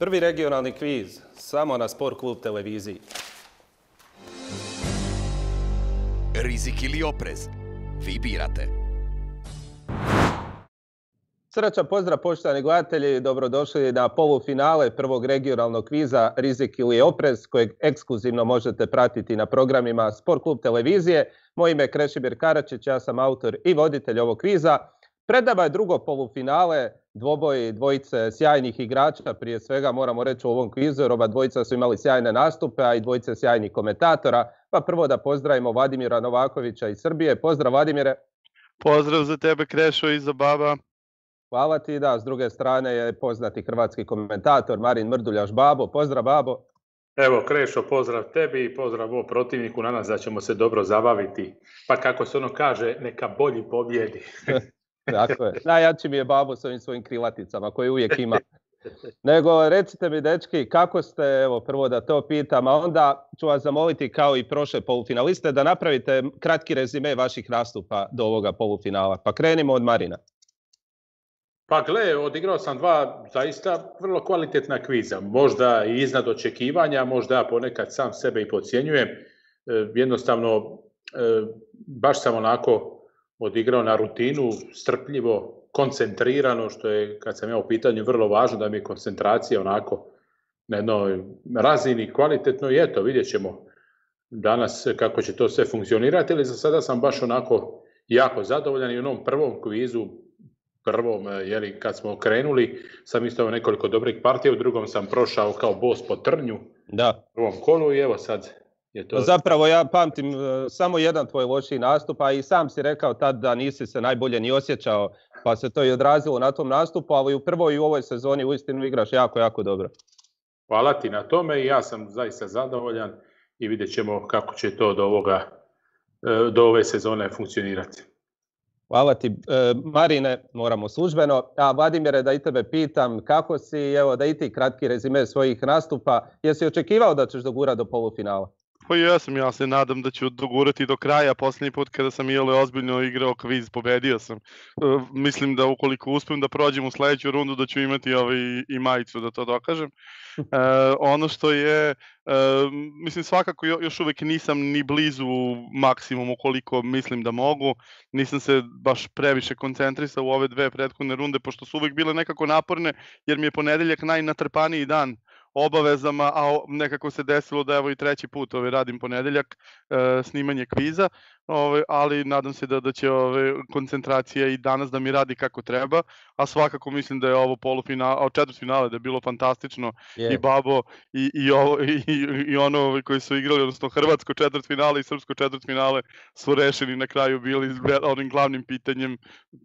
Prvi regionalni kviz, samo na Sport klub televiziji. Rizik ili oprez? Vi birate. Srdačan pozdrav poštovani gledatelji, dobrodošli na polufinale prvog regionalnog kviza Rizik ili oprez, kojeg ekskluzivno možete pratiti na programima Sport klub televizije. Moje ime je Krešimir Karačić, ja sam autor i voditelj ovog kviza. Pred nama je drugo polufinale, dvoboj dvojice sjajnih igrača, prije svega moramo reći u ovom kvizu, jer oba dvojica su imali sjajne nastupe, a i dvojice sjajnih komentatora. Pa prvo da pozdravimo Vladimira Novakovića iz Srbije. Pozdrav Vladimire. Pozdrav za tebe Krešo i za baba. Hvala ti, da, s druge strane je poznati hrvatski komentator Marin Mrduljaš. Babo, pozdrav Babo. Evo Krešo, pozdrav tebi i pozdrav o protivniku, nadam se da ćemo se dobro zabaviti. Pa kako se ono kaže, neka bolji pobjedi. Tako je. Najjači mi je Babo s ovim svojim krilaticama koje uvijek ima. Nego recite mi dečki, kako ste, evo prvo da to pitam, a onda ću vas zamoliti kao i prošle polufinaliste da napravite kratki rezime vaših nastupa do ovoga polufinala. Pa krenimo od Marina. Pa gle, odigrao sam dva zaista vrlo kvalitetna kviza, možda i iznad očekivanja, možda ja ponekad sam sebe i podcjenjujem. Jednostavno, baš sam onako odigrao na rutinu, strpljivo, koncentrirano, što je, kad sam ja u pitanju, vrlo važno da mi je koncentracija onako na jednoj razini kvalitetno i eto, vidjet ćemo danas kako će to sve funkcionirati, ali za sada sam baš onako jako zadovoljan i u onom prvom kvizu, kad smo krenuli, sam isto nekoliko dobrih partija, u drugom sam prošao kao bos po trnju u prvom kolu i evo sad je to... Zapravo ja pamtim samo jedan tvoj lošiji nastup, a i sam si rekao tad da nisi se najbolje ni osjećao, pa se to i odrazilo na tom nastupu, ali u prvoj i u ovoj sezoni uistinu igraš jako, jako dobro. Hvala ti na tome i ja sam zaista zadovoljan i vidjet ćemo kako će to do ove sezone funkcionirati. Hvala ti. Marine, moramo službeno. A Vladimire, da i tebe pitam, kako si, evo da i ti kratki rezime svojih nastupa, jesi očekivao da ćeš dogurati do polufinala? Pa jesam, ja se nadam da ću dogurati do kraja. Posljednji put kada sam ozbiljno igrao kviz, pobedio sam. Mislim da ukoliko uspijem da prođem u sledeću rundu da ću imati i majicu da to dokažem. Ono što je, mislim svakako još uvek nisam ni blizu maksimumu koliko mislim da mogu. Nisam se baš previše koncentrisao u ove dve prethodne runde, pošto su uvek bile nekako naporne, jer mi je ponedeljak najnatrpaniji dan obavezama, a nekako se desilo da evo i treći put radim ponedeljak snimanje kviza, ali nadam se da će koncentracija i danas da mi radi kako treba, a svakako mislim da je ovo četvrtfinale da je bilo fantastično. I Babo i ono koji su igrali, odnosno hrvatsko četvrtfinale i srpsko četvrtfinale su rešeni na kraju bili onim glavnim pitanjem.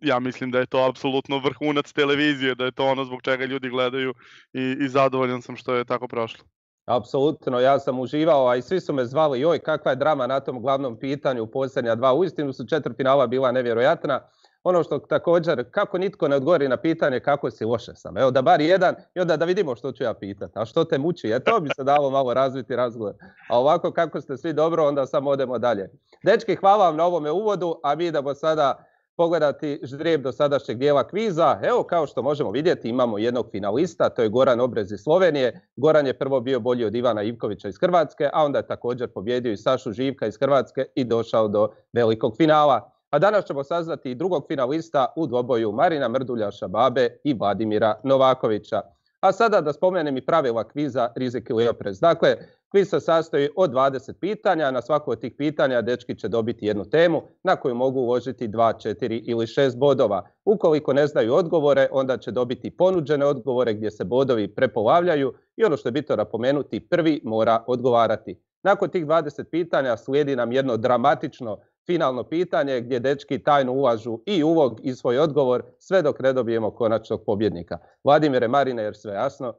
Ja mislim da je to apsolutno vrhunac televizije, da je to ono zbog čega ljudi gledaju i zadovoljan sam što je tako prošlo. Apsolutno, ja sam uživao, a i svi su me zvali, joj kakva je drama na tom glavnom pitanju u posljednja dva. Uistinu su četvrtfinala bila nevjerojatna. Ono što također, kako nitko ne odgovori na pitanje kako si, loše sam. Evo da bar jedan i onda da vidimo što ću ja pitati. A što te muči? To bi se dalo malo razviti razgovor. A ovako kako ste svi dobro, onda samo odemo dalje. Dečki, hvala vam na ovome uvodu, a mi idemo sada pogledati ždrijeb do sadašnjeg dijela kviza. Evo, kao što možemo vidjeti, imamo jednog finalista, to je Goran Obrez iz Slovenije. Goran je prvo bio bolji od Ivana Ivkovića iz Hrvatske, a onda je također pobjedio i Sašu Živka iz Hrvatske i došao do velikog finala. A danas ćemo saznati i drugog finalista u dvoboju Marina Mrduljaša Babe i Vladimira Novakovića. A sada da spomenem i pravila kviza Rizik ili oprez. Dakle, kviz se sastoji od 20 pitanja, na svako od tih pitanja dečki će dobiti jednu temu na koju mogu uložiti 2, 4 ili 6 bodova. Ukoliko ne znaju odgovore, onda će dobiti ponuđene odgovore gdje se bodovi prepolavljaju i ono što je bitno napomenuti, prvi mora odgovarati. Nakon tih 20 pitanja slijedi nam jedno dramatično finalno pitanje gdje dečki tajno ulažu i ulog i svoj odgovor sve dok ne dobijemo konačnog pobjednika. Vladimire, Marine, jer sve jasno?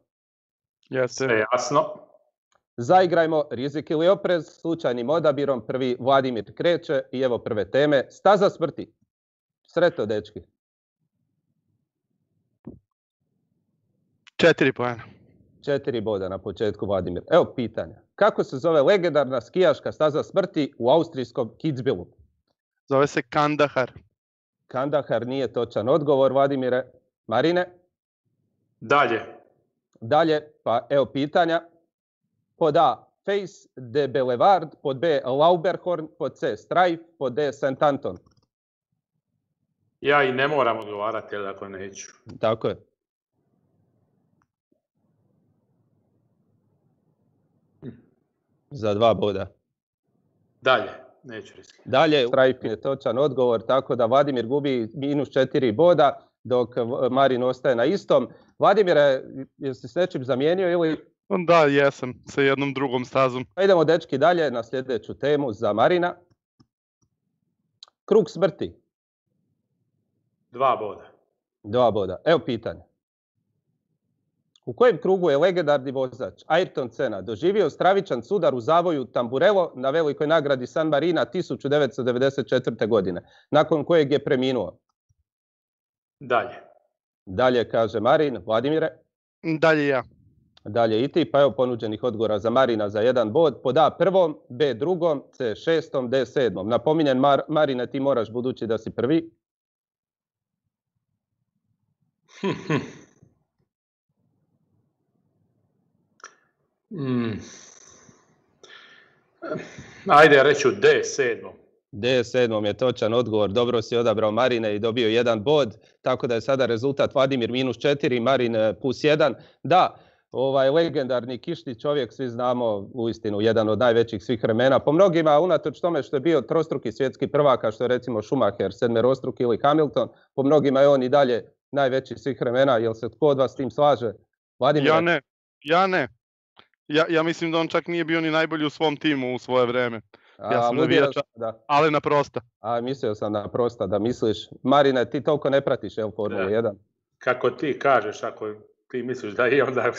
Sve jasno. Zaigrajmo Rizik ili oprez, slučajnim odabirom. Prvi Vladimir kreće i evo prve teme. Staza smrti. Sretno, dečki. 4 poena. 4 boda na početku, Vladimir. Evo pitanja. Kako se zove legendarna skijaška staza smrti u austrijskom Kitzbühelu? Zove se Kandahar. Kandahar nije točan odgovor, Vladimire. Marine? Dalje. Dalje, pa evo pitanja. Pod A, Face de Boulevard, pod B, Lauberhorn, pod C, Strife, pod D, St. Anton. Ja i ne moram odgovarati, jer ako neću. Tako je. Za 2 boda. Dalje, neću riskirati. Dalje, Strife je točan odgovor, tako da Vladimir gubi -4 boda, dok Marin ostaje na istom. Vladimire, jesi s nečim zamijenio ili... Da, jesam, sa jednom drugom stazom. Idemo, dečki, dalje na sljedeću temu za Marina. Krug smrti. 2 boda. 2 boda. Evo pitanje. U kojem krugu je legendarni vozač Ayrton Senna doživio stravičan sudar u zavoju Tamburello na velikoj nagradi San Marina 1994. godine, nakon kojeg je preminuo? Dalje. Dalje, kaže Marin. Vladimire? Dalje ja. Dalje i ti, pa evo ponuđenih odgovora za Marina za 1 bod. Pod A 1, B 2, C 6, D 7. Napominjem, Marine, ti moraš budući da si prvi. Ajde, reću D 7. D 7 je točan odgovor. Dobro si odabrao, Marine, i dobio 1 bod. Tako da je sada rezultat Vladimir -4, Marin +1. Da, legendarni kišni čovjek, svi znamo, uistinu jedan od najvećih svih vremena. Po mnogima, unatoč tome što je bio trostruki svjetski prvak, kao što je recimo Schumacher, 7-rostruki ili Hamilton, po mnogima je on i dalje najveći svih vremena. Jel se tko od vas s tim slaže? Vladimir? Ja ne. Ja mislim da on čak nije bio ni najbolji u svom timu u svoje vreme. Ja sam navijač, ali na prosta. Mislio sam na prosta da misliš. Marine, ti toliko ne pratiš Formulu 1. Kako ti kažeš, ako ti misliš da je, onda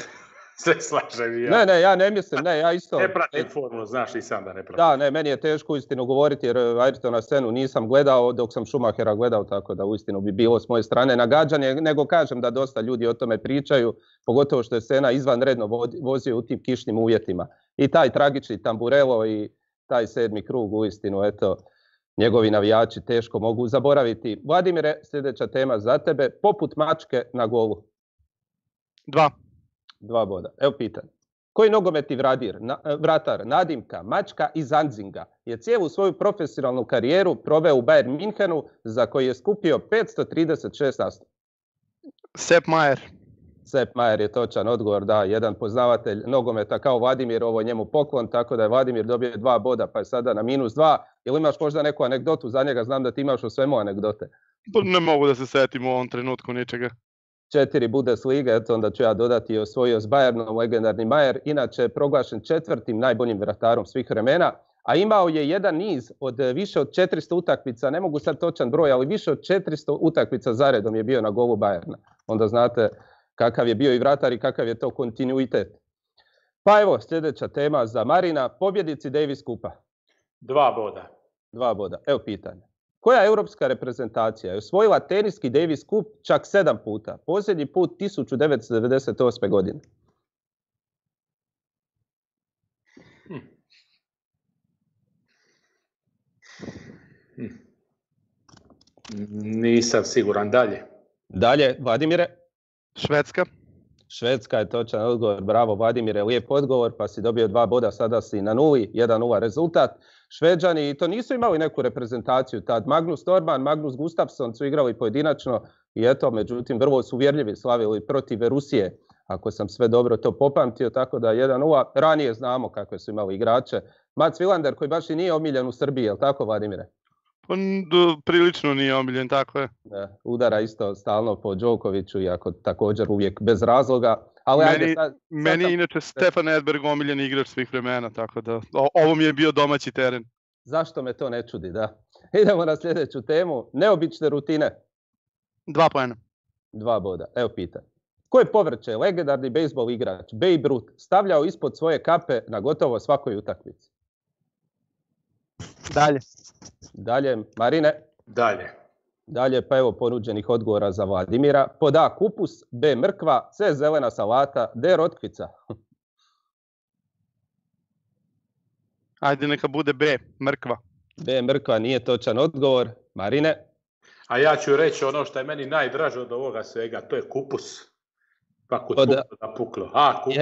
se slažem i ja. Ne, ja ne mislim, ja isto. Ne pratim Formulu, znaš i sam da ne pratim. Da, ne, meni je teško uistinu govoriti jer Ayrtona Sennu nisam gledao dok sam Schumachera gledao, tako da uistinu bi bilo s moje strane nagađanje, nego kažem da dosta ljudi o tome pričaju, pogotovo što je Senna izvanredno vozio u tim kišnim uvjetima. I taj tragični Tamburello i taj 7. krug, uistinu, eto, njegovi navijači teško mogu zaboraviti. Vladimire, sljedeća tema za tebe, poput mačke na golu. 2 boda. Evo pitanje. Koji nogometni vratar, nadimka, mačka iz Anzinga je cijelu svoju profesionalnu karijeru proveo u Bayern Minhenu, za koji je skupio 536 nastupa? Sepp Maier. Sepp Maier je točan odgovor, da, jedan poznavatelj nogometa kao Vladimir, ovo je njemu poklon, tako da je Vladimir dobio 2 boda, pa je sada na -2. Ili imaš možda neku anegdotu za njega? Znam da ti imaš o svemu anegdote. Ne mogu da se setim u ovom trenutku ničega. 4 Bundeslige, eto onda ću ja dodati, i osvojio s Bayernom legendarni Maier, inače je proglašen 4. najboljim vratarom svih vremena, a imao je jedan niz od više od 400 utakmica, ne mogu sad točan broj, ali više od 400 utakmica zaredom je bio na golu Bayerna. Onda znate kakav je bio i vratar i kakav je to kontinuitet. Pa evo, sljedeća tema za Marina, pobjednici Davis Cupa. 2 boda. 2 boda. Evo pitanje. Koja europska reprezentacija je osvojila teniski Davis Cup čak 7 puta? Posljednji put 1998. godine. Nisam siguran. Dalje, Vladimire? Švedska je točan odgovor. Bravo, Vladimire, lijep odgovor, pa si dobio 2 boda, sada si na 0, 1-0 rezultat. Šveđani to nisu imali neku reprezentaciju tad. Magnus Norman, Magnus Gustafsson su igrali pojedinačno i eto, međutim, vrlo su uvjerljivi, slavili protiv Rusije, ako sam sve dobro to popamtio, tako da 1-0. Ranije znamo kakve su imali igrače. Mats Wilander, koji baš i nije omiljen u Srbiji, je li tako, Vladimire? Prilično nije omiljen, tako je. Udara isto stalno po Đokoviću, iako također uvijek bez razloga. Meni je inače Stefan Edberg omiljen igrač svih vremena, tako da ovo mi je bio domaći teren. Zašto me to ne čudi, da. Idemo na sljedeću temu. Neobične rutine. 2 poena. 2 boda. Evo pitanje. Koje povrće je legendarni bejsbol igrač Babe Ruth stavljao ispod svoje kape na gotovo svakoj utakmici? Dalje, Marine? Dalje, pa evo ponuđenih odgovora za Vladimira. Pod A kupus, B mrkva, C zelena salata, D rotkvica. Ajde, neka bude B, mrkva. B mrkva nije točan odgovor. Marine? A ja ću reći ono što je meni najdraže od ovoga svega, to je kupus. Pa kod Od- Kupusa puklo. A, Kupus.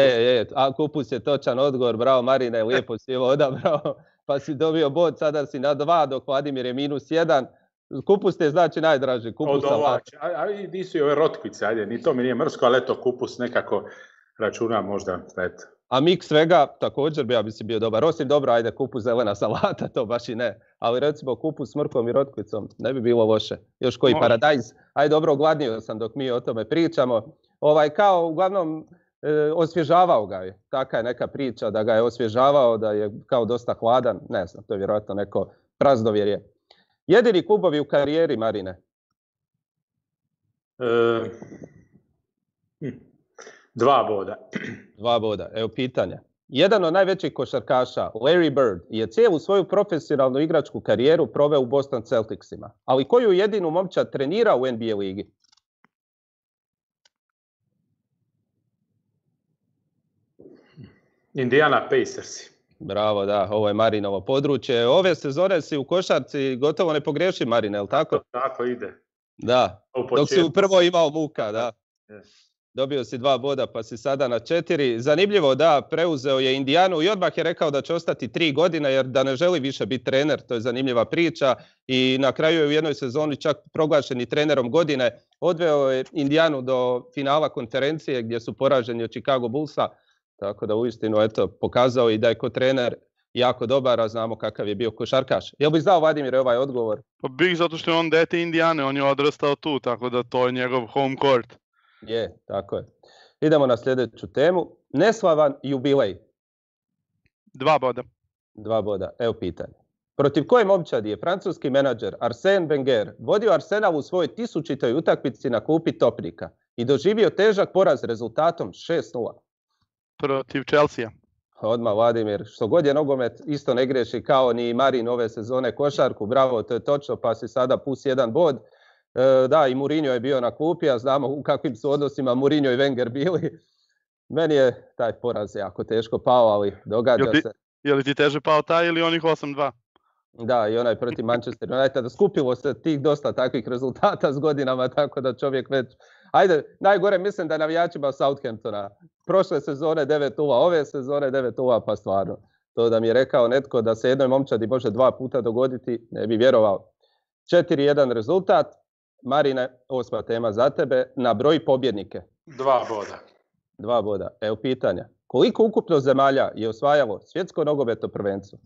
A Kupus je točan odgovor, bravo Marine, lijepo si ovo odabrao, pa si dobio bod, sada si na 2, dok Vladimir je -1. Kupus ti je znači najdraži, Od Kupusa ova, a nisu i ove rotkvice, ajde, ni to mi nije mrsko, ali eto, Kupus nekako računam možda, eto. A miks svega također bi si bio dobar. Osim dobro, ajde, kupus zelena salata, to baš i ne. Ali recimo kupus s mrkvom i rotkvicom ne bi bilo loše. Još koji paradajz. Ajde, dobro, ogladnio sam dok mi o tome pričamo. Kao uglavnom osvježavao ga je. Taka je neka priča da ga je osvježavao, da je kao dosta hladan. Ne znam, to je vjerojatno neko praznovjerje. Jedini klubovi u karijeri, Marine? 2 boda. 2 boda. Evo pitanja. Jedan od najvećih košarkaša, Larry Bird, je cijelu svoju profesionalnu igračku karijeru proveo u Boston Celticsima. Ali koju jedinu momčad trenira u NBA ligi? Indiana Pacersi. Bravo, da, ovo je Marinovo područje. Ove sezone si u košarci gotovo ne pogriješi, Marine, je li tako? Tako ide. Da, dok si prvo imao muka, da. Dobio si 2 boda, pa si sada na 4. Zanimljivo, da, preuzeo je Indijanu i odmah je rekao da će ostati 3 godine, jer da ne želi više biti trener, to je zanimljiva priča. I na kraju je u jednoj sezoni čak proglašen i trenerom godine. Odveo je Indijanu do finala konferencije gdje su poraženi od Chicago Bullsa. Tako da uistinu, eto, pokazao i da je ko trener jako dobar, a znamo kakav je bio košarkaš. Jel bi znao, Vladimir, ovaj odgovor? Pa bih, zato što je on dete Indijane, on je odrastao tu, tako da to je njegov home court. Je, tako je. Idemo na sljedeću temu. Neslavan jubilej. 2 boda. 2 boda. Evo pitanje. Protiv koje momčadi je francuski menadžer Arsène Wenger vodio Arsenal u svojoj 1000. utakmici na klupi topnika i doživio težak poraz rezultatom 6:0? Protiv Chelsea. Odmah, Vladimir, što god je nogomet, isto ne griješi kao ni Marin ove sezone košarku. Bravo, to je točno, pa si sada +1 bod. Da, i Mourinho je bio na klupi, a znamo u kakvim su odnosima Mourinho i Wenger bili. Meni je taj poraz jako teško pao, ali događa se. Je li ti teže pao taj ili onih 8:2? Da, i onaj protiv Manchester Uniteda. Skupilo se tih dosta takvih rezultata s godinama, tako da čovjek već... Ajde, najgore mislim da navijačima Southamptona. Prošle sezone 9:0, ove sezone 9:0, pa stvarno. To da mi je rekao netko da se jednoj momčadi može 2 puta dogoditi, ne bi vjerovao. 4:1 rezultat. Marine, 8. tema za tebe. Na broj pobjednike. 2 boda. 2 boda. Evo pitanja. Koliko ukupno zemalja je osvajalo svjetsko nogometno prvenstvo?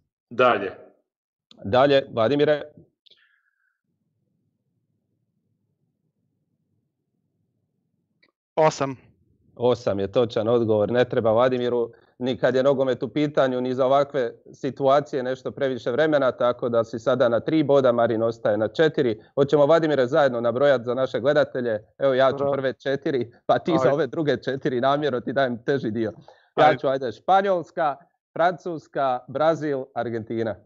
Dalje, Vladimire. 8. 8 je točan odgovor. Ne treba Vladimiru ni kad je nogomet u pitanju, ni za ovakve situacije nešto previše vremena, tako da si sada na 3 boda, Marin ostaje na 4. Hoćemo, Vladimire, zajedno nabrojati za naše gledatelje. Evo, ja ću prve 4, pa ti za ove druge 4 namjerno ti dajem teži dio. Ja ću, Španjolska, Francuska, Brazil, Argentina.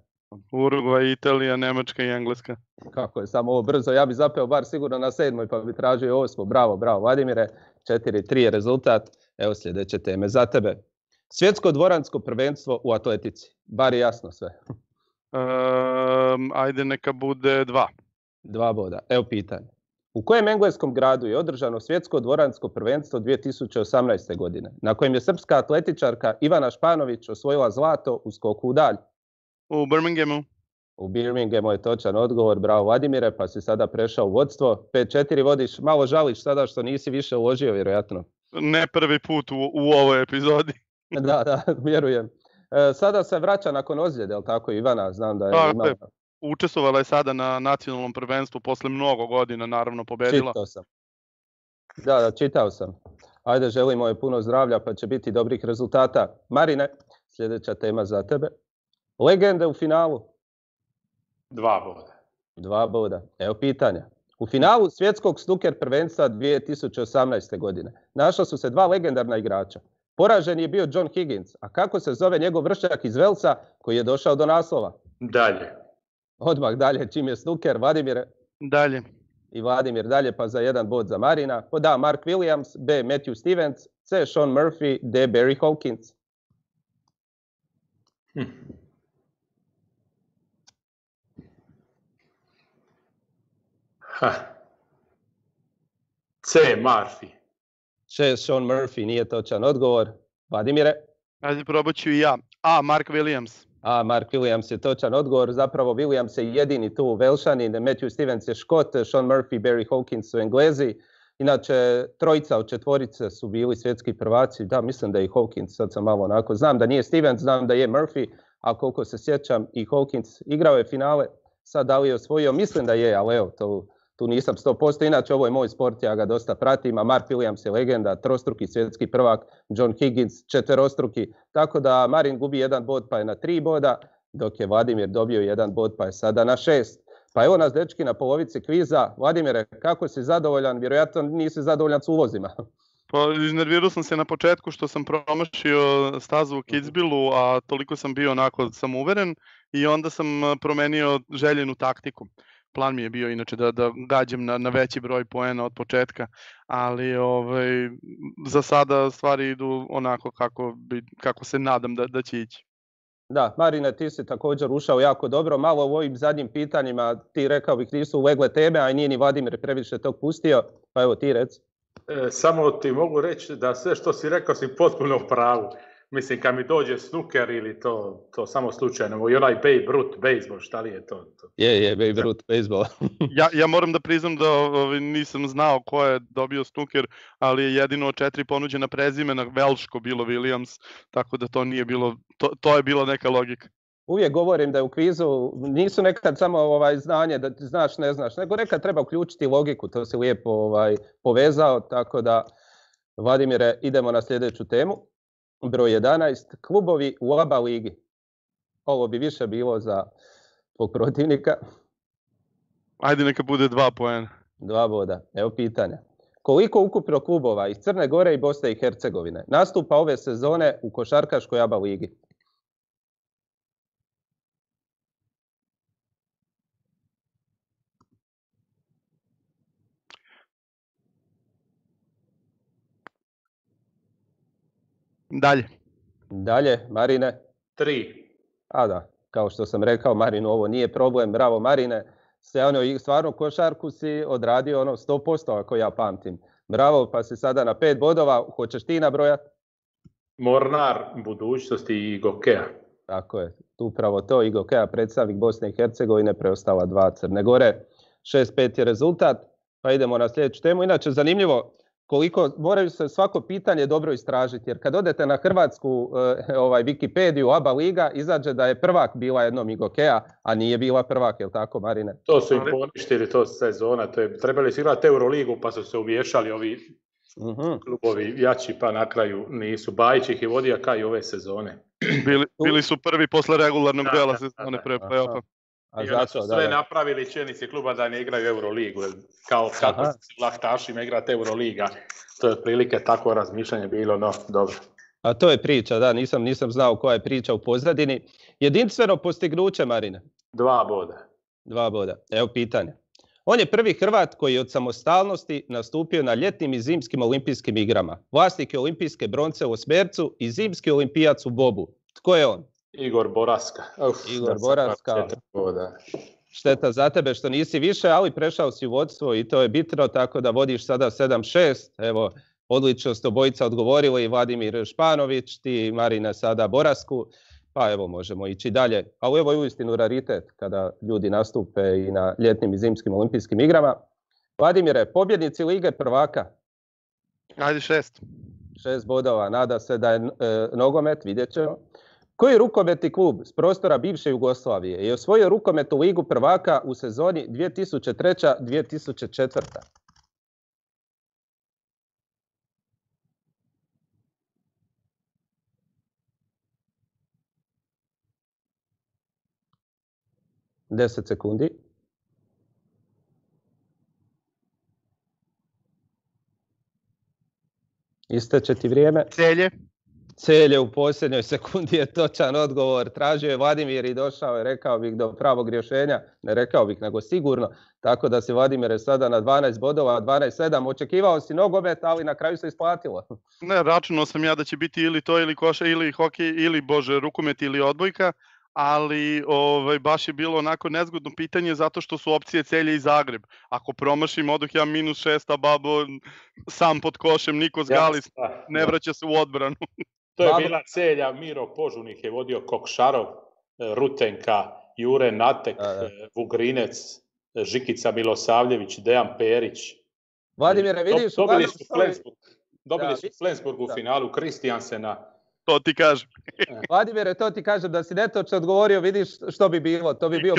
Urugvaj, Italija, Nemačka i Engleska. Kako je samo ovo brzo, ja bi zapeo bar sigurno na 7. pa bi tražio 8. Bravo, Vladimire. 4:3 je rezultat. Evo sljedeće teme za tebe. Svjetsko dvoransko prvenstvo u atletici. Bar je jasno sve. Ajde, neka bude 2. 2 boda. Evo pitanje. U kojem engleskom gradu je održano svjetsko dvoransko prvenstvo 2018. godine, na kojem je srpska atletičarka Ivana Španović osvojila zlato u skoku u dalj? U Birminghamu. U Birminghamu je točan odgovor. Bravo, Vladimire, pa si sada prešao u vodstvo. 5:4 vodiš. Malo žališ sada što nisi više uložio, vjerojatno. Ne prvi put u ovoj epizodi. Da, vjerujem. Sada se vraća nakon ozljede, je li tako, Ivana? Znam da je imala... Učestvovala je sada na nacionalnom prvenstvu posle mnogo godina, naravno pobedila. Čitao sam. Da, čitao sam. Ajde, želimo joj puno zdravlja, pa će biti dobrih rezultata. Marine, sljedeća tema za tebe. Legende u finalu. 2 boda. 2 boda. Evo pitanja. U finalu svjetskog snooker prvenstva 2018. godine našla su se 2 legendarna igrača. Poražen je bio John Higgins, a kako se zove njegov vršnjak iz Velsa koji je došao do naslova? Dalje. Odmah dalje, čim je snooker, Vladimir. Dalje. I Vladimir dalje, pa za 1 bod za Marina. Pod A. Mark Williams, B. Matthew Stevens, C. Sean Murphy, D. Barry Hawkins. C. Murphy. 6 Sean Murphy, nije točan odgovor. Vladimire? Ajde, probat ću i ja. A. Mark Williams. A. Mark Williams je točan odgovor. Zapravo Williams je jedini tu Velšanin, Matthew Stevens je Škot, Sean Murphy, Barry Hawkins su Englezi. Inače, trojica od četvorice su bili svjetski prvaci. Da, mislim da je i Hawkins, sad sam malo onako. Znam da nije Stevens, znam da je Murphy, a koliko se sjećam i Hawkins igrao je finale. Sad da li je osvojio, mislim da je, ali evo, tu nisam 100%. Inače, ovo je moj sport, ja ga dosta pratim, a Mark Williams je legenda, trostruki svjetski prvak, John Higgins četverostruki. Tako da Marin gubi 1 bod pa je na 3 boda, dok je Vladimir dobio 1 bod pa je sada na 6. Pa evo nas dečki na polovici kviza. Vladimire, kako si zadovoljan? Vjerojatno nisi zadovoljan s ulozima. Pa iznervirao sam se na početku što sam promašio stazu u Kitzbühelu, a toliko sam bio onako samouveren i onda sam promenio željenu taktiku. Plan mi je bio inače da gađam na veći broj poena od početka, ali za sada stvari idu onako kako se nadam da će ići. Da, Marine, ti si također ušao jako dobro. Malo u ovim zadnjim pitanjima ti rekao bih nisu ulegle teme, a i nije ni Vladimir previše tog pustio. Pa evo ti reci. Samo ti mogu reći da sve što si rekao si potpuno u pravu. Mislim, kad mi dođe snooker ili to samo slučajno, i onaj Babe Ruth baseball, šta li je to? Je, Babe Ruth baseball. ja moram da priznam da nisam znao ko je dobio snooker, ali je jedino od 4 ponuđena prezimena velško bilo Williams, tako da to nije bilo, to je bila neka logika. Uvijek govorim da je u kvizu nisu nekad samo znanje da znaš, ne znaš, nego nekad treba uključiti logiku, to si lijepo povezao, tako da Vladimire, idemo na sljedeću temu. Broj 11, klubovi u ABA ligi. Ovo bi više bilo za tvog protivnika. Ajde, neka bude 2 poena. 2 boda. Evo pitanja. Koliko ukupno klubova iz Crne Gore i Bosne i Hercegovine nastupa ove sezone u košarkaškoj ABA ligi? Dalje, Marine? 3. A da, kao što sam rekao, Marinu, ovo nije problem. Bravo, Marine. Stvarno košarku si odradio 100%, ako ja pamtim. Bravo, pa si sada na 5 bodova. Hoćeš ti nabrojati? Mornar budućnosti i Gokea. Tako je, upravo to. I Gokea, predstavnik Bosne i Hercegovine, preostala 2 Crne Gore. 6-5 je rezultat. Pa idemo na sljedeću temu. Inače, zanimljivo, koliko moraju se svako pitanje dobro istražiti, jer kad odete na hrvatsku Wikipediju ABA liga, izađe da je prvak bila jednom i Gokea, a nije bila prvak, je li tako, Marine? To su im poništili, to sezona, trebali su igrati Euroligu pa su se uvješali ovi klubovi jači, pa na kraju nisu. Bajić ih je vodio kao i ove sezone. Bili su prvi posle regularnog dela sezone pre play-offa. I onda su sve napravili čelnici kluba da ne igraju Euroligu, kao kako se lahtašima igrati Euroliga. To je otprilike tako razmišljanje bilo, no dobro. A to je priča, da, nisam znao koja je priča u pozadini. Jedinstveno postignuće, Marine? 2 boda. 2 boda. Evo pitanje. On je prvi Hrvat koji je od samostalnosti nastupio na ljetnim i zimskim olimpijskim igrama. Vlasnik je olimpijske bronce u osmercu i zimski olimpijac u bobu. Tko je on? Igor Boraska. Igor Boraska. Šteta za tebe što nisi više, ali prešao si u vodstvo i to je bitno, tako da vodiš sada 7-6. Evo, odlično ste obojica odgovorili, Vladimir Španović, ti Marina sada Borasku, pa evo možemo ići dalje. Ali evo je uistinu raritet kada ljudi nastupe i na ljetnim i zimskim olimpijskim igrama. Vladimire, pobjednici Lige prvaka? Ajde 6. 6 bodova, nada se da je nogomet, vidjet ćemo. Koji rukometni klub s prostora bivše Jugoslavije je osvojio rukometnu Ligu prvaka u sezoni 2003-2004? Deset sekundi. Isteče ti vrijeme. Celje u posljednjoj sekundi je točan odgovor. Tražio je Vladimir i došao je, rekao bih, do pravog rješenja. Ne rekao bih, nego sigurno. Tako da si Vladimir sada na 12 bodova, 12-7. Očekivao si nogomet, ali na kraju se isplatilo. Ne, računao sam ja da će biti ili to, ili koša, ili hokej, ili rukomet, ili odbojka. ali baš je bilo onako nezgodno pitanje zato što su opcije Celje i Zagreb. Ako promašim, odoh ja -6, a Babo sam pod košem, Nikos Galis ne vraća se u odbranu. To je bila Celja, Miro Požunih je vodio, Kokšarov, Rutenka, Jure Natek, Vugrinec, Žikica Milosavljević, Dejan Perić. Vladimire, vidiš... Dobili su Flensburg u finalu, Kristijansena. To ti kažem. Vladimire, to ti kažem da si netočno odgovorio, vidiš što bi bilo. To bi bio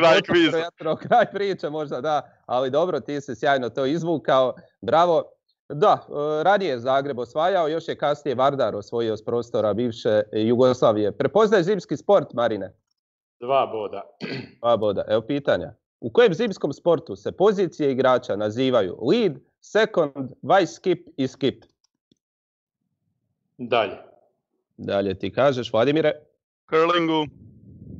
kraj priče možda, da. Ali dobro, ti si sjajno to izvukao. Bravo. Da, ranije je Zagreb osvajao, još je kasnije Vardar osvojio s prostora bivše Jugoslavije. Prepoznaje zimski sport, Marine? 2 boda. 2 boda. Evo pitanja. U kojem zimskom sportu se pozicije igrača nazivaju lead, second, vice skip i skip? Dalje ti kažeš, Vladimire? Curlingu.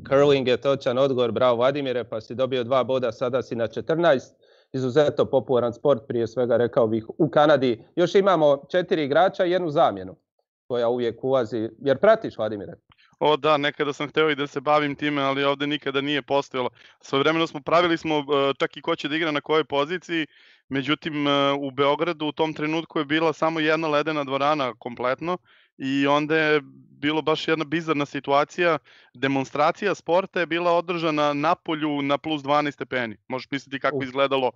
Curling je točan odgovor, bravo Vladimire, pa si dobio 2 boda, sada si na 14. Izuzetno popularan sport, prije svega rekao bih u Kanadi. Još imamo 4 igrača i 1 zamjenu koja uvijek ulazi. Jer pratiš, Vladimire? O da, nekada sam hteo i da se bavim time, ali ovde nikada nije postojalo. Svojevremeno pravili smo čak i ko će da igra na kojoj poziciji, međutim u Beogradu u tom trenutku je bila samo jedna ledena dvorana kompletno i onda je bilo baš jedna bizarna situacija. Demonstracija sporta je bila održana na polju na plus 12 stepeni. Možeš misliti kako izgledalo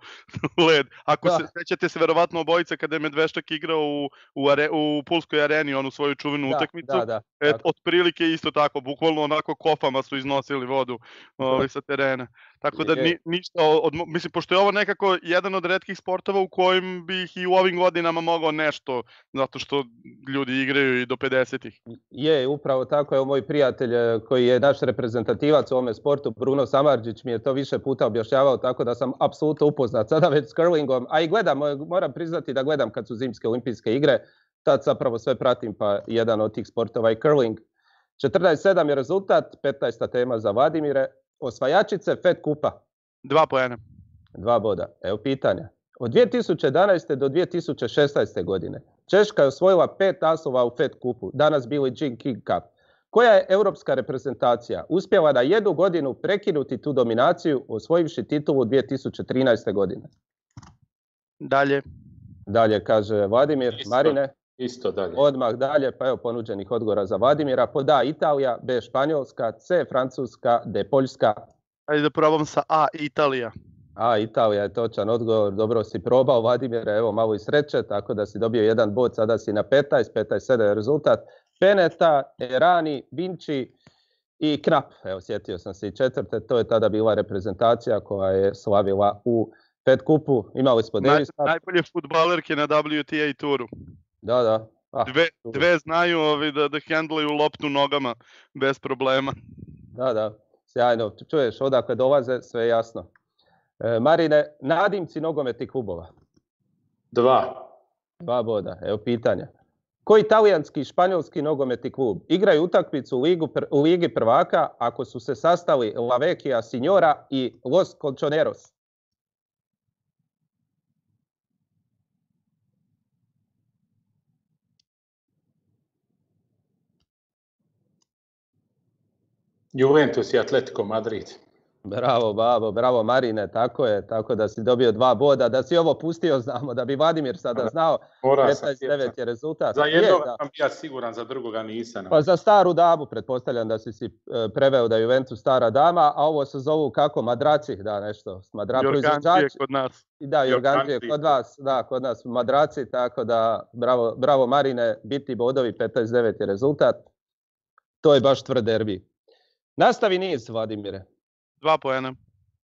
led. Ako se sećate se verovatno obojica kada je Medveščak igrao u Pulskoj areni onu svoju čuvenu utakmicu. Otprilike isto tako, bukvalno onako kofama su iznosili vodu sa terena. Tako da ništa, mislim, pošto je ovo nekako jedan od retkih sportova u kojim bih i u ovim godinama mogao nešto, zato što ljudi igraju i do 50-ih. Je, upravo tako. Evo moj prijatelj koji je naš reprezentativac u ovome sportu, Bruno Samardžić, mi je to više puta objašnjavao, tako da sam apsolutno upoznat sada već s curlingom, a i gledam, moram priznati da gledam kad su zimske olimpijske igre, tad zapravo sve pratim, pa jedan od tih sportova je curling. 14-7 je rezultat, 15. tema za Vladimire. Osvajačice Fed kupa. 2 poena. 2 boda. Evo pitanja. Od 2011. do 2016. godine Češka je osvojila 5 naslova u Fed kupu, danas Billie Jean King Cup. Koja je europska reprezentacija uspjela na 1 godinu prekinuti tu dominaciju, osvojivši titulu 2013. godine? Dalje kaže Vladimir. Marine? Isto dalje. Odmah dalje, pa evo ponuđenih odgovora za Vladimira. Pod A Italija, B Španjolska, C Francuska, D Poljska. Ajde da probam sa A, Italija. A, Italija je točan odgovor, dobro si probao Vladimire, evo malo i sreće, tako da si dobio 1 bod, sada si na 15-7 je rezultat. Peneta, Erani, Vinci i Knap, evo sjetio sam se i 4. To je tada bila reprezentacija koja je slavila u Fed kupu. Imali smo Davis Cup. Najbolje fudbalerke na WTA turu. Da. Dve znaju da hendlaju loptu nogama bez problema. Da, sjajno. Čuješ, odakle dolaze, sve je jasno. Marine, nadimci nogometnih klubova? 2 boda. Evo pitanja. Koji italijanski i španjolski nogometni klub igraju utakmicu u Ligi prvaka ako su se sastali La Vecchia Signora i Los Colchoneros? Juventus i Atletico Madrid. Bravo, Babo, bravo Marine, tako je, tako da si dobio 2 boda, da si ovo pustio, znamo, da bi Vladimir sada znao, 15-9 je rezultat. Za jednog sam ja siguran, za drugoga nisam. Pa za staru damu, pretpostavljam da si preveo da je Juventus stara dama, a ovo se zovu kako, madraci, da nešto. Jorgančije kod nas. Da, Jorgančije kod vas, da, kod nas madraci, tako da bravo Marine, biti bodovi, 15-9 je rezultat. To je baš tvrd derbi. Nastavi niz, Vladimire. 2 poena.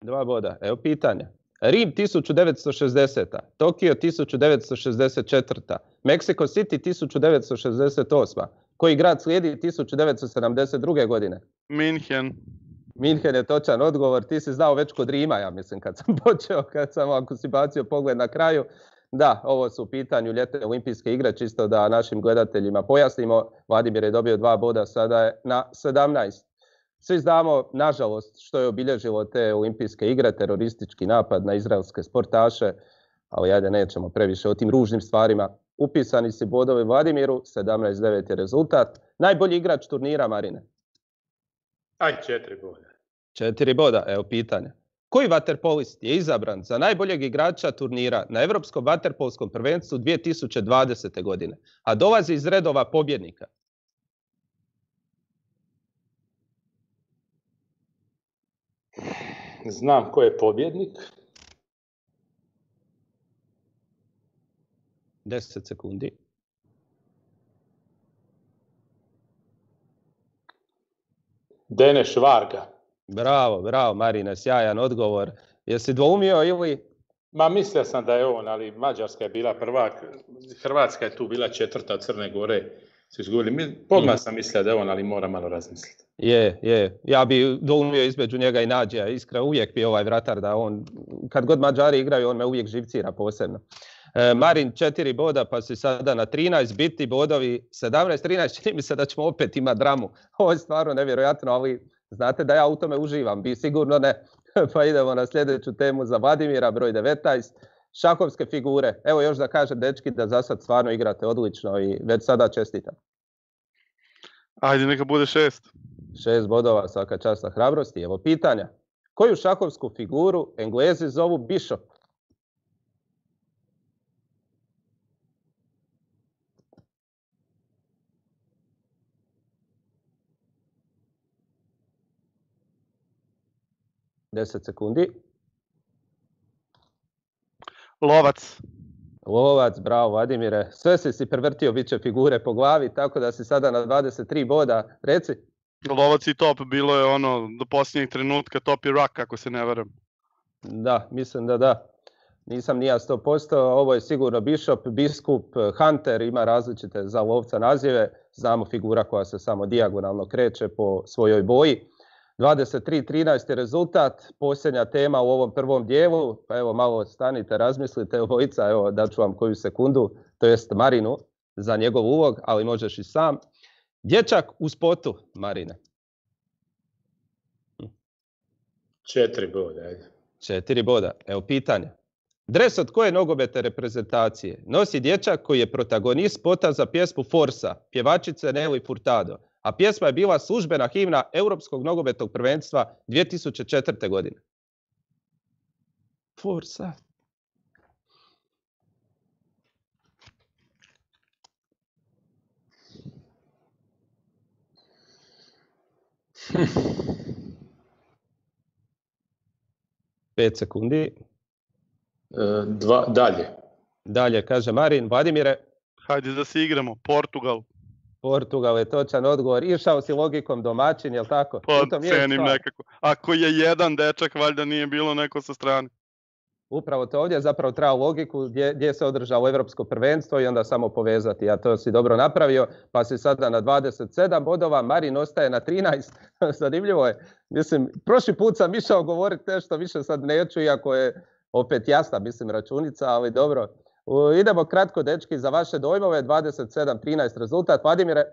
2 boda. Evo pitanja. Rim 1960. Tokio 1964. Mexico City 1968. Koji grad slijedi 1972. godine? Minhen je točan odgovor. Ti si znao već kod Rima, ja mislim, kad sam počeo, ako si bacio pogled na kraju. Da, ovo su u pitanju ljetne olimpijske igre, čisto da našim gledateljima pojasnimo. Vladimir je dobio 2 boda, sada je na 17. Svi znamo, nažalost, što je obilježilo te olimpijske igre, teroristički napad na izraelske sportaše, ali ajde, nećemo previše o tim ružnim stvarima. Upisani si bodovi Vladimiru, 17-9 je rezultat. Najbolji igrač turnira, Marine? 4 boda. 4 boda, evo pitanja. Koji vaterpolist je izabran za najboljeg igrača turnira na Europskom vaterpolskom prvenstvu 2020. godine, a dolazi iz redova pobjednika? Znam ko je pobjednik. 10 sekundi. Deneš Varga. Bravo, Marine, sjajan odgovor. Jesi dvoumio ili? Ma mislio sam da je on, ali Mađarska je bila prvak, Hrvatska je tu bila četvrta od Crne Gore. Su izgubili. Odmah sam mislio da je on, ali moram malo razmisliti. Je. Ja bi dvoumio između njega i Nađija. Iskreno, uvijek bi ovaj vratar da on, kad god Mađari igraju, on me uvijek živcira posebno. Marin 4 boda, pa si sada na 13, biti bodovi 17-13, čini mi se da ćemo opet imati dramu. Ovo je stvarno nevjerojatno, ali znate da ja u tome uživam, vi sigurno ne. Pa idemo na sljedeću temu za Vladimira, broj 19. Šahovske figure. Evo još da kažem, dečki, da za sad stvarno igrate odlično i već sada čestitam. Ajde, neka bude 6. 6 bodova, svaka čast na hrabrosti. Evo pitanja. Koju šahovsku figuru Englezi zovu Bishop? Deset sekundi. Lovac, bravo Vladimire. Sve si prevrtio biće figure po glavi, tako da si sada na 23 boda. Reci. Lovac i top, bilo je ono do posljednjeg trenutka, top i rak, ako se ne varam. Da, mislim da. Nisam ni ja 100%, ovo je sigurno Bishop, biskup, Hunter, ima različite za lovca nazive. Znamo figura koja se samo dijagonalno kreće po svojoj boji. 23-13 je rezultat, posljednja tema u ovom prvom dijelu, pa evo malo stanite, razmislite obojica, evo daću vam koju sekundu, to jest Marinu za njegov ulog, ali možeš i sam. Dječak u spotu, Marine. 4 boda, ajde. 4 boda, evo pitanje. Dres od koje nogometne reprezentacije nosi dječak koji je protagonist spota za pjesmu Forza, pjevačice Nelly Furtado, a pjesma je bila službena himna Europskog nogometnog prvenstva 2004. godine. Forza. Pet sekundi. Dalje. Dalje, kaže Marin. Vladimire? Hajde da se igramo. Portugal je točan odgovor. Išao si logikom domaćin, jel tako? Pa cenim nekako. Ako je jedan dečak, valjda nije bilo neko sa strane. Upravo to ovdje zapravo treba logiku gdje se održalo Europsko prvenstvo i onda samo povezati. A to si dobro napravio, pa si sada na 27 bodova. Marin ostaje na 13. Zanimljivo je. Mislim, prošli put sam išao govoriti nešto, više sad neću, iako je opet jasna, mislim, računica, ali dobro. Idemo kratko, dečki, za vaše dojmove, 27-13 rezultat. Vladimire?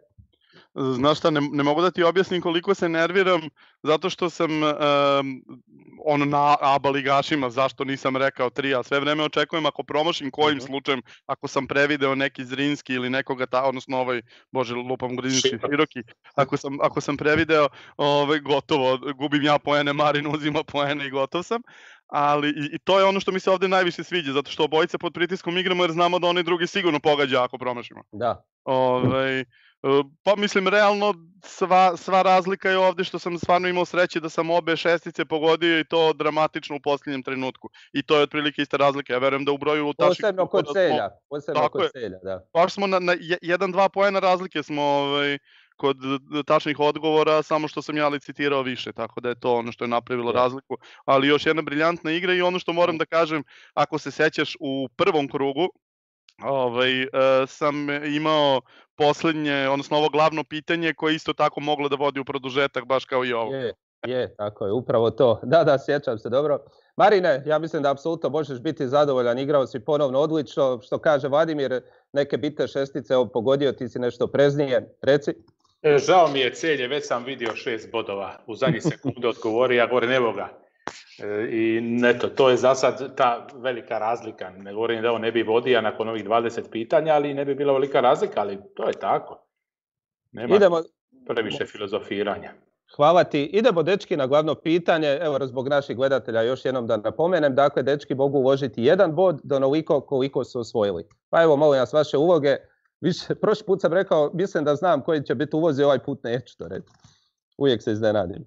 Znaš šta, ne mogu da ti objasnim koliko se nerviram, zato što sam na ABA ligašima, zašto nisam rekao 3, a sve vreme očekujem ako promašim kojim slučajem, ako sam prevideo neki Zrinski ili nekoga, odnosno lupam Grinski Široki, ako sam prevideo, gotovo, gubim ja poene, Marin uzima poene i gotov sam. Ali i to je ono što mi se ovdje najviše sviđa, zato što obojice pod pritiskom igramo jer znamo da onaj drugi sigurno pogađa ako promašimo. Da. Pa mislim, realno sva razlika je ovdje što sam stvarno imao sreće da sam obe šestice pogodio i to dramatično u posljednjem trenutku. I to je otprilike ista razlika. Ja verujem da u broju lutaših... Posebno kod Celja, da. Baš smo na 1-2 poena razlike smo kod tačnih odgovora, samo što sam ja licitirao više, tako da je to ono što je napravilo razliku. Ali još jedna briljantna igra i ono što moram da kažem, ako se sećaš u prvom krugu, sam imao posljednje, odnosno ovo glavno pitanje koje isto tako moglo da vodi u produžetak, baš kao i ovo. Je, tako je, upravo to. Da, sjećam se, dobro. Marine, ja mislim da apsolutno možeš biti zadovoljan, igrao si ponovno odlično, što kaže Vladimir, neke bitne šestice, pogodio ti si nešto preznije, reci. Žao mi je Celje, već sam vidio 6 bodova, u zadnji sekunde odgovori, ja govorim evo ga. I eto, to je za sad ta velika razlika. Ne govorim da on ne bi vodio nakon ovih 20 pitanja, ali ne bi bila velika razlika, ali to je tako. Nema previše filozofiranja. Hvala ti. Idemo, dečki, na glavno pitanje. Evo, zbog naših gledatelja još jednom da napomenem. Dakle, dečki mogu uložiti 1 bod do onoliko koliko su osvojili. Pa evo, molim vas, vaše uloge. Prošli put sam rekao, mislim da znam koji će biti ulozi, ovaj put neću to reći. Uvijek se iznenadim.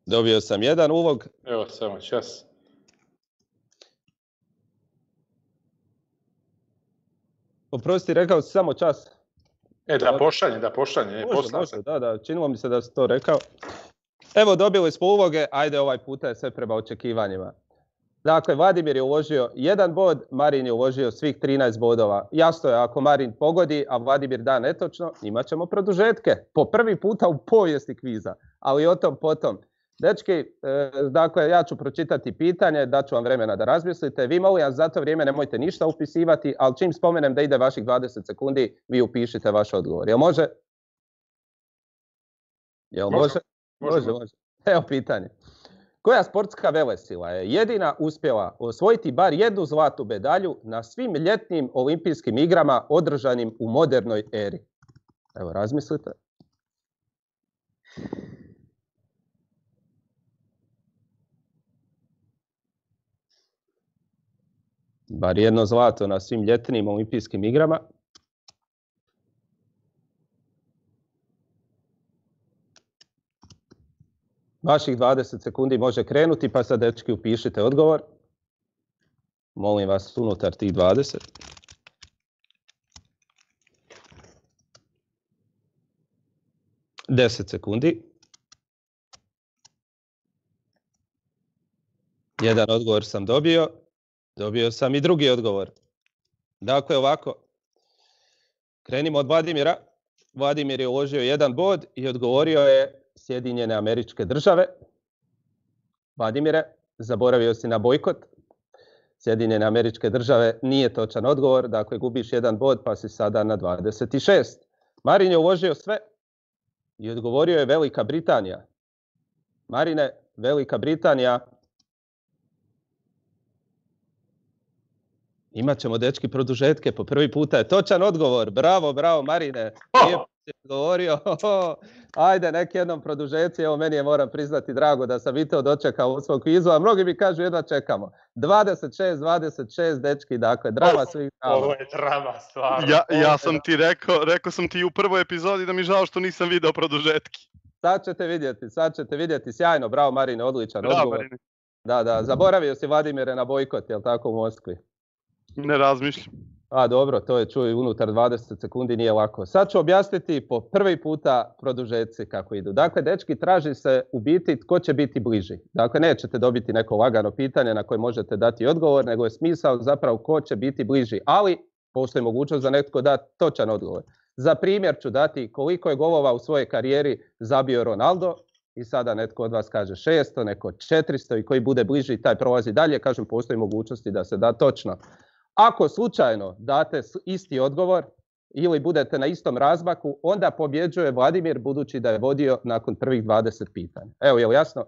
Dobio sam 1 ulog. Evo, samo čas. Oprosti, rekao si samo čas. Da pošalje. Može, da, činilo mi se da si to rekao. Evo, dobili smo uloge, ajde, ovaj puta je sve prema očekivanjima. Dakle, Vladimir je uložio 1 bod, Marin je uložio svih 13 bodova. Jasno je, ako Marin pogodi, a Vladimir da netočno, imat ćemo produžetke. Po prvi puta u povijesti kviza, ali o tom potom. Dečki, dakle, ja ću pročitati pitanje, daću vam vremena da razmislite. Vi, molim vas, za to vrijeme nemojte ništa upisivati, ali čim spomenem da ide vaših 20 sekundi, vi upišite vaš odgovor. Jel može? Može. Evo pitanje. Koja sportska velesila je jedina uspjela osvojiti bar 1 zlatnu medalju na svim ljetnim olimpijskim igrama održanim u modernoj eri? Evo, razmislite. Bar 1 zlato na svim ljetnim olimpijskim igrama. Vaših 20 sekundi može krenuti, pa sad, dečki, upišite odgovor. Molim vas, unutar tih 20. Deset sekundi. 1 odgovor sam dobio. Dobio sam i drugi odgovor. Dakle, ovako. Krenimo od Vladimira. Vladimir je uložio 1 bod i odgovorio je Sjedinjene Američke Države. Vladimire, zaboravio si na bojkot. Sjedinjene Američke Države nije točan odgovor, dakle gubiš 1 bod pa si sada na 26. Marin je uložio sve i odgovorio je Velika Britanija. Marine, Velika Britanija. Imat ćemo, dečki, produžetke, po prvi puta je točan odgovor. Bravo, Marine. Lijepo si odgovorio. Ajde, neki jednom produžeci, evo, meni je, moram priznati, drago da sam i to dočekao u svog kvizu, a mnogi mi kažu jedva čekamo. 26, dečki, dakle, drama svih drama. Ovo je drama, stvarno. Ja sam ti rekao sam ti u prvoj epizodi da mi žao što nisam video produžetki. Sad ćete vidjeti, sjajno, bravo Marine, odličan odgovor. Marine. Da, zaboravio si, Vladimire, na bojkot, jel tako, u Moskvi? Ne razmišljam. A dobro, to je, čuj, unutar 20 sekundi nije lako. Sad ću objasniti po prvi puta produžetci kako idu. Dakle, dečki, traži se u biti tko će biti bliži. Dakle, nećete dobiti neko lagano pitanje na koje možete dati odgovor, nego je smisao zapravo ko će biti bliži. Ali postoji mogućnost da netko da točan odgovor. Za primjer ću dati koliko je golova u svojoj karijeri zabio Ronaldo i sada netko od vas kaže 600, neko 400 i koji bude bliži taj prolazi dalje. Kažem, postoji mogućnosti da se da točno. Ako slučajno date isti odgovor ili budete na istom razmaku, onda pobjeđuje Vladimir, budući da je vodio nakon prvih 20 pitanja. Evo, je li jasno?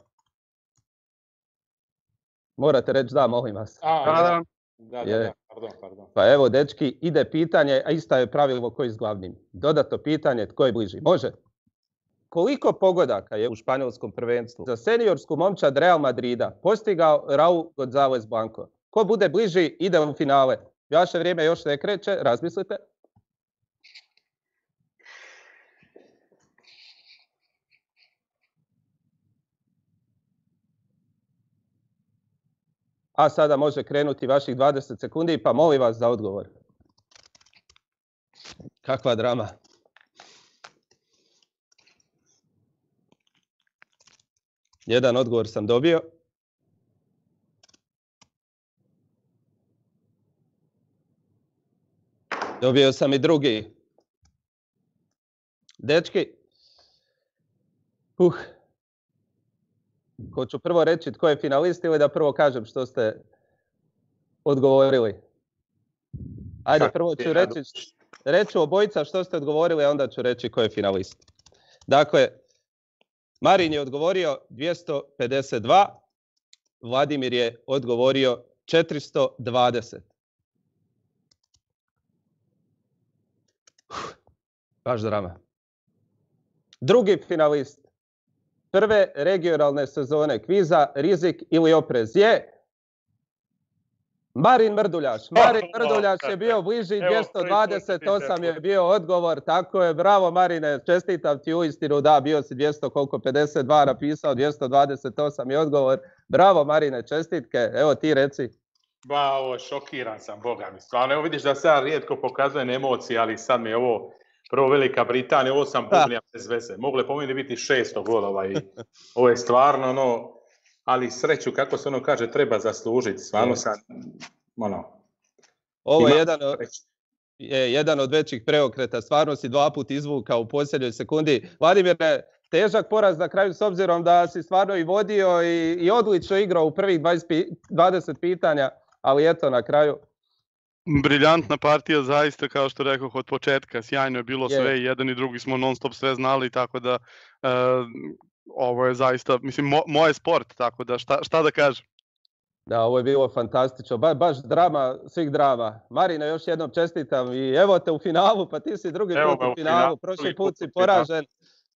Morate reći da, molim vas. Da, pardon. Pa evo, dečki, ide pitanje, a isto je pravilo koji s glavnim. Dodatno pitanje, tko je bliži? Može? Koliko pogodaka je u španjolskom prvenstvu za seniorsku momčad Real Madrida postigao Raul González Blanco? Ko bude bliži, ide u finale. Vaše vrijeme još ne kreće, razmislite. A sada može krenuti vaših 20 sekundi, pa molim vas za odgovor. Kakva drama. Jedan odgovor sam dobio. Dobio sam i drugi. Dečki. Hoću prvo reći tko je finalist ili da prvo kažem što ste odgovorili? Ajde, prvo ću reći obojica što ste odgovorili, a onda ću reći tko je finalist. Dakle, Marin je odgovorio 252, Vladimir je odgovorio 420. Baš drama. Drugi finalist prve regionalne sezone kviza Rizik ili oprez je Marin Mrduljaš. Marin Mrduljaš je bio bliži, 228 je bio odgovor, tako je, bravo Marine, čestitam ti uistinu, da, bio si 52 napisao, 228 je odgovor, bravo Marine, čestitke, evo ti reci. Ba, ovo šokiran sam, boga mi, stvarno, evo vidiš da se ja rijetko pokazujem emocije, ali sad mi je ovo prvo Velika Britanija, ovo sam bubnija bez veze, mogle po meni biti 600 golova i ovo je stvarno ali sreću, kako se ono kaže, treba zaslužiti. Stvarno sam, ovo je jedan od većih preokreta. Stvarno si 2 puta izvukao u posljednjoj sekundi. Vladimire, težak poraz na kraju s obzirom da si stvarno i vodio i odlično igrao u prvih 20 pitanja, ali eto na kraju. Briljantna partija, zaista, kao što rekao, od početka. Sjajno je bilo sve, jedan i drugi smo non stop sve znali, tako da ovo je zaista, mislim, moj sport, tako da šta da kažem. Da, ovo je bilo fantastično, baš drama svih drama. Marine, još jednom čestitam i evo te u finalu, pa ti si drugi put u finalu, prošli put si poražen.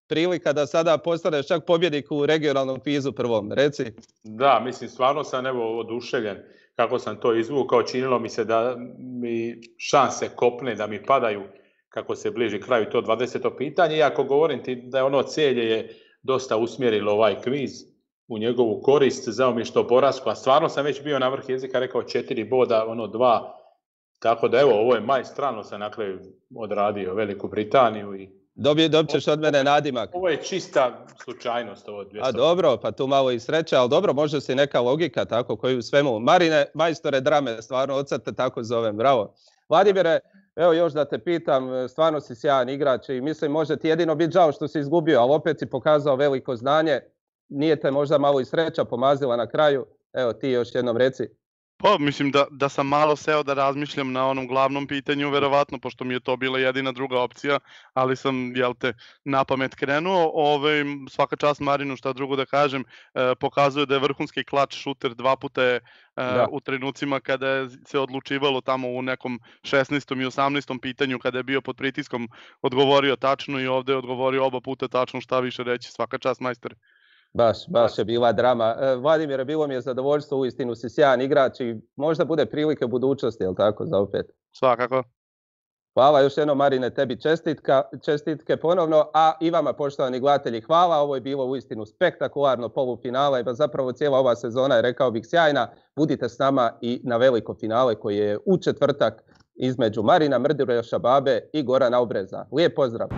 Prilika da sada postaneš čak pobjednik u regionalnom kvizu prvom, reci. Da, mislim, stvarno sam oduševljen kako sam to izvukao, činilo mi se da mi šanse kopne, da mi padaju kako se bliži kraju to 20. pitanje, iako govorim ti da je ono Celje je dosta usmjerilo ovaj kviz u njegovu korist, žao mi što porazku, a stvarno sam već bio na vrh jezika, rekao 4 boda, 2, tako da evo, ovo je majstralno sam odradio Veliku Britaniju i dobit ćeš od mene nadimak. Ovo je čista slučajnost. A dobro, pa tu malo i sreća, ali dobro, može se neka logika tako koju u svemu. Marine, majstore drame, stvarno od sad te tako zovem, bravo. Vladimire, evo još da te pitam, stvarno si sjajan igrač i mislim može ti jedino biti žao što si izgubio, ali opet si pokazao veliko znanje, nije te možda malo i sreća pomazila na kraju, evo ti još jednom reci. Pa mislim da sam malo seo da razmišljam na onom glavnom pitanju, verovatno, pošto mi je to bila jedina druga opcija, ali sam, na pamet krenuo. Svaka čast Marinu, šta drugo da kažem, pokazuje da je vrhunski klač šuter, 2 puta je u trenucima kada je se odlučivalo tamo u nekom 16. i 18. pitanju, kada je bio pod pritiskom, odgovorio tačno i ovde je odgovorio oba puta tačno, šta više reći, svaka čast majstore. Baš je bila drama. Vladimire, bilo mi je zadovoljstvo, uistinu si sjajan igrač i možda bude prilike u budućnosti, jel tako, za opet? Svakako. Hvala još jednom Marine, tebi čestitke ponovno, a i vama poštovani gledatelji hvala, ovo je bilo uistinu spektakularno polufinale, pa zapravo cijela ova sezona je, rekao bih, sjajna. Budite s nama i na veliko finale koji je u četvrtak između Marina Mrduljaša Babe i Gorana Obreza. Lijep pozdrav!